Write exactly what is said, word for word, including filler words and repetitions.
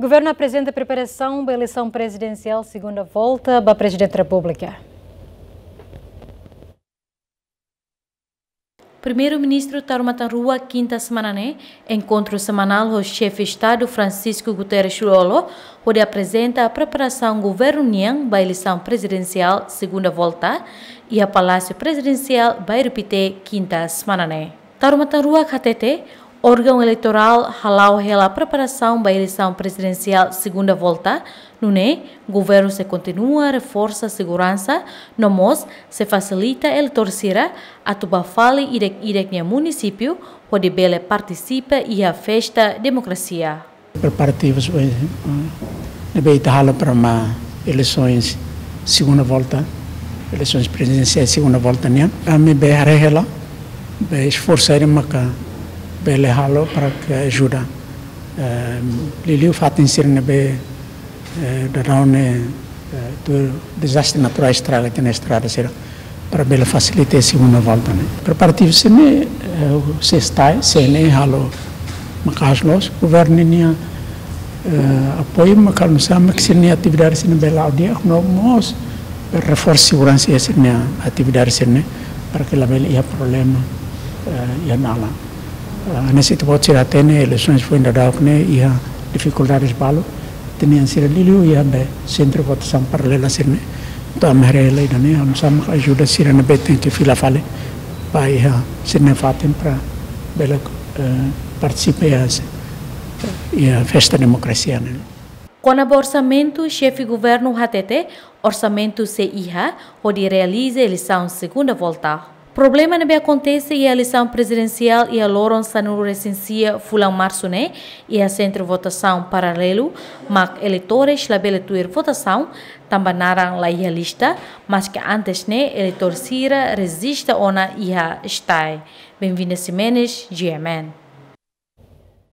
Governu aprezenta preparasaun ba eleisaun prezidensiál segunda volta ba Prezidente Repúblika. Primeiru-Ministru Taur Matan Ruak kinta semana ne'e enkontru semanál ho Xefe Estadu Francisco Guterres Lú-Olo, hodi aprezenta preparasaun governu nian ba eleisaun prezidensiál segunda volta, iha Palásiu Prezidensiál Bairru Pité, kinta semana ne'e. Taur Matan Ruak hatete, órgaun eleitorál hala'o hela preparasaun ba eleisaun prezidensiál segunda volta, nune'e governu sei kontinua reforsa seguransa, no mós sei fasilita eleitór sira atu bá fali ida-idak nia munisípiu, hodi bele partisipa iha festa demokrasia. Preparativus, eh, ne'ebé ita halo para ema eleisaun segunda volta, eleisaun prezidensiál segunda volta nian. Ami bele haree hela, bele esforsu ida maka bele halo para ke ajuda. Eh, liuliu fatin sira ne'ebé, eh, daudaun ne'e, eh, tuir dezastre naturál estraga tiha ona estrada sira, para bele fasilita segunda volta ne'e. Preparativu sira-ne'e, eh, sei estae, C N E halo maka'as loos, governu nian, eh, apoiu, maka halo nu'usá mak sira-nia atividade sira-ne'e bele la'o di'ak, no mós reforsa seguransa iha sira-nia atividade sira-ne'e, para ke labele iha problema, eh, iha dalan. Ah, hanesan ita-boot sira hatene, eleisaun foin daudauk ne'e iha difikuldades balu, ita-nia sira liuliu iha be sentru votasaun paralela sira-ne'e. Entaun ami haree hela ida-ne'e, halo nu'usá mak ajuda sira ne'ebé tenke fila fali ba iha sira-nia fatin para bele, eh, partisipa iha, iha festa demokrasia ne'e. Kona-ba orsamentu, Xefe Governu hatete, orsamentu sei iha hodi realiza eleisaun segunda volta. Problema ne'ebé akontese iha eleisaun prezidensiál iha loron sanulu-resin-sia fulan Marsu ne'e, iha sentru votasaun paralelu, mak eleitór sira labele tuir votasaun, tanba naran la iha lista, maske antes ne'e eleitór sira rejista ona iha STAE. Benvinda Ximenes, G M N.